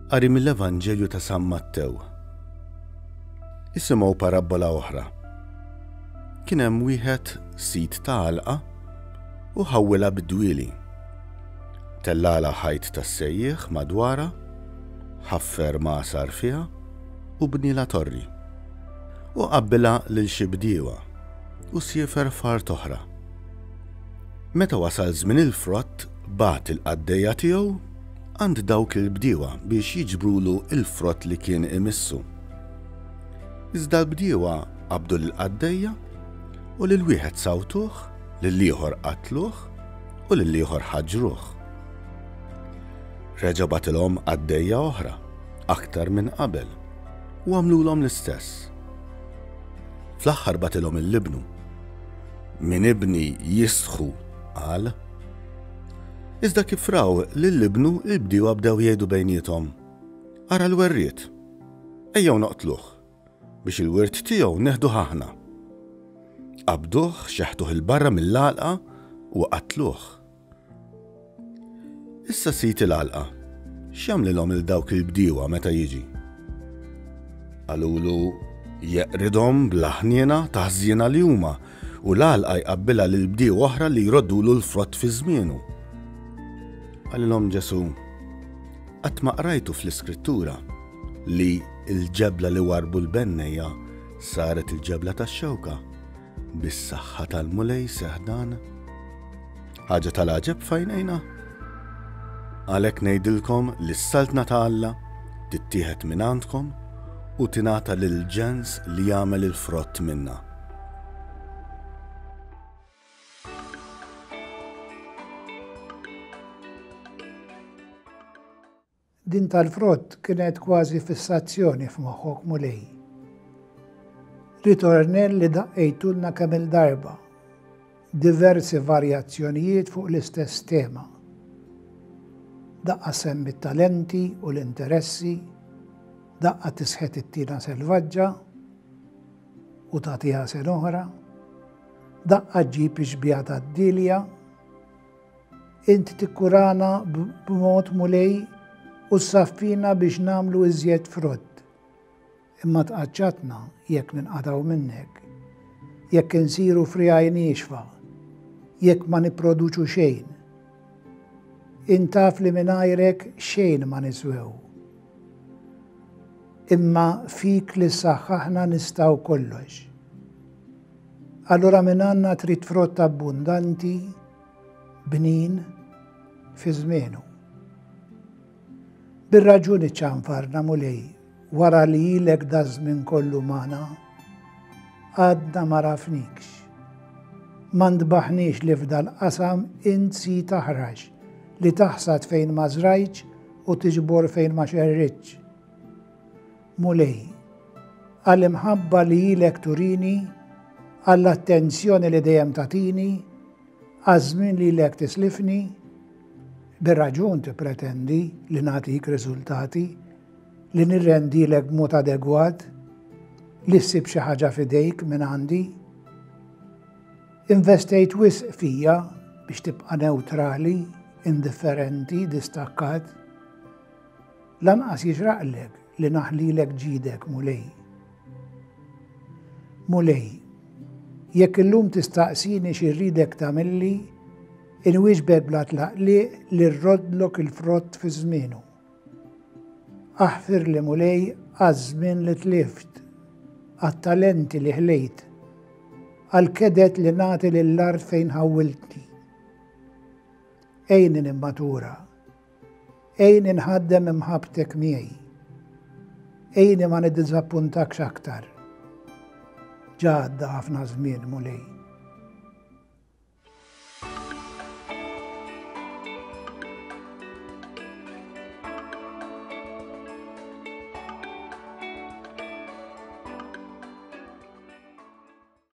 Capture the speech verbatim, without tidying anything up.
Qari mill-Evanġelju ta' San Mattew. Isimgħu parabbola oħra. Kien hemm wieħed sid ta' għalqa u ħawwilha bid-dwieli. Tellagħlha ħajt tas-sejjieħ madwarha, ħaffer magħsar fiha u bnielha torri. U qabbilha lil xi bdiewa u siefer f'art oħra. Meta wasal żmien il-frott, bagħat il-qaddejja tiegħu għand dawk il-bdiewa biex jiġbrulu l-frott li kien imissu. Iżda l-bdiewa qabdu lill-qaddejja u lil wieħed sawtuh, lill-ieħor qatluh u lill-ieħor ħaġruh. Reġa' bagħtilhom qaddejja oħra, aktar minn qabel, u għamlulhom l-istess. Fl-aħħar bagħtilhom lil ibnu. Minn ibni jistħu, qal. Iżda kif raw lil ibnu, il-bdiewa bdew jgħidu bejniethom, Ara l-werriet, ejjew noqtluh, biex il-wirt tiegħu neħduh aħna. Qabduh, xeħtuh 'il barra mill-għalqa u qatluh. Issa sid il-għalqa, x'jagħmlilhom lil dawk il-bdiewa meta jiġi? Qalulu, Jeqridhom bla ħniena ta' ħżiena li huma, u l-għalqa jqabbilha lil bdiewa oħra li jroddulu l-frott fi żmienu. Qalilhom Ġesù, Qatt ma qrajtu fl-Iskrittura li l-ġebla li warrbu l-bennejja saret il-ġebla tax-xewka? Bis-saħħa tal-Mulej seħħ dan. Ħaġa tal-għaġeb f'għajnejna? Għalhekk ngħidilkom li s-saltna ta' Alla tittieħed minn għandkom u tingħata lil ġens li jagħmel il-frott minnha. Din tal-frott kienet kważi fissazzjoni f'moħħok, Mulej. Ritornell li daqqejtulna kemm-il darba. Diversi varjazzjonijiet fuq l-istess tema. Daqqa semmi t-talenti u l-interessi, daqqa tisħet it-tina selvaġġa u tagħtiha sen oħra, daqqa ġġib ix-xbieha tad-dilja. Int tikkurana b'mod, Mulej, u ssaffina biex nagħmlu iżjed frott. Imma tqaċċatna jekk ninqatgħu minnek, jekk insiru friegħi niexfa, jekk ma nipproduċu xejn. Int taf li mingħajrek xejn ma niswew. Imma fik li ssaħħaħna nistgħu kollox. Allura minn għandna trid frott abbundanti, bnin, fi żmienu. Bir-raġuni ċanfarna, Mulej, wara li ilek daż-żmien kollu magħna, għadna ma rafnikx. Ma ntbaħniex li f'dal-qasam int sid aħrax, li taħsad fejn ma żrajtx u tiġbor fejn ma xerridtx. Mulej, għall-imħabba li ilek turini, għall-attenzjoni li dejjem tagħtini, għaż-żmien li ilek tislifni, bir-raġun tippretendi li nagħtik riżultati, li nirrendilek b'mod adegwat, li ssib xi ħaġa f'idejk minn għandi. Investejt wisq fija biex tibqa' newtrali, indifferenti, distakkat. Lanqas jixraqlek li naħlilek ġidek, Mulej. Mulej, jekk illum tistaqsini x'irridek tagħmilli, inwieġbek bla tlaqliq li rroddlok il-frott fi żmienu. Aħfirli, Mulej, għaż-żmien li tlift, għat-talenti li ħlejt, għall-kedet li nagħti lill-art fejn ħawwiltni. Għinni nimmatura, għinni nħaddem imħabbtek miegħi, għinni ma niddiżappuntakx aktar. Ġa għadda ħafna żmien, Mulej.